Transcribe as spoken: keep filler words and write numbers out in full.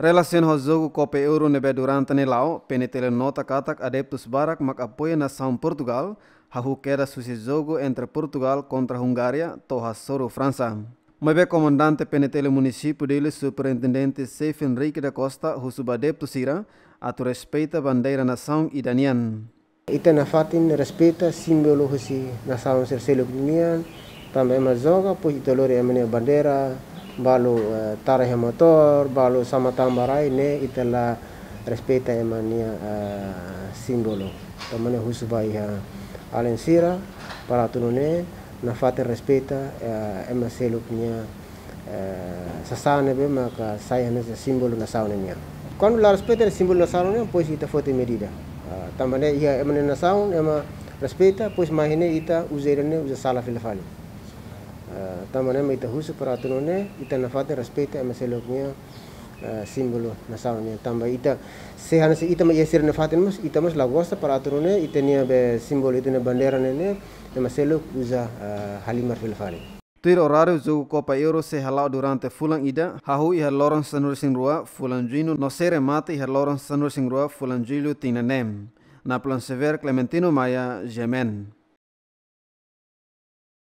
Relasiona ho jogu Copa Euro ne'ebé durante ne'e la'o, P N T L nota katak adeptus barak mak apoia nasaun Portugal, hahú kedas husi jogu entre Portugal kontra Hungária to'o hasoru Fransa. Maibé komandante P N T L munisípiu Dili, Superintendente Seif Henrique da Costa, husu ba adeptu sira atu respeita bandeira nasaun ida nian. Ita nafatin respeita símbolu husi nasaun sira seluk nian, tanba ema joga, pois ita lori ema nia bandeira, balu, eh, tara iha motór, balu sama tama ba rai, ne'e ita la respeita ema nia, eh, símbolu. Tanba ne'e husu ba iha alin sira, para atu nune'e nafatin respeita, eh, ema seluk nia, eh, sasán ne'ebé maka sai hanesan símbolu nasaun nian. Kuandu la respeita símbolu nasaun nian, pois ita foti medida. Ah, tanba ne'e iha ema nia nasaun, ema respeita, pois mai ne'e ita uza ida-ne'e uza sala fila fali. Ah, tanba ne'e mak ita husu para atu nune'e, ita nafatin respeita ema seluk nia, eh, símbolu nasaun nian. Tanba ita, se hanesan ita mak iha sira nafatin mós, ita mós la gosta para atu nune'e, ita-nia be símbolu, ita-nia bandeira ne'e, ne'e, ema seluk uza, eh, halimar fila fali. Tuir oráriu, jogu Copa Euro sei hala'o durante fulan ida, hahú iha loron sanulu-resin-rua fulan Juñu, no sei remata iha loron sanulu-resin-rua fulan Jullu tinan ne'e. Napoleon Xavier, Clementino Maia, G M N.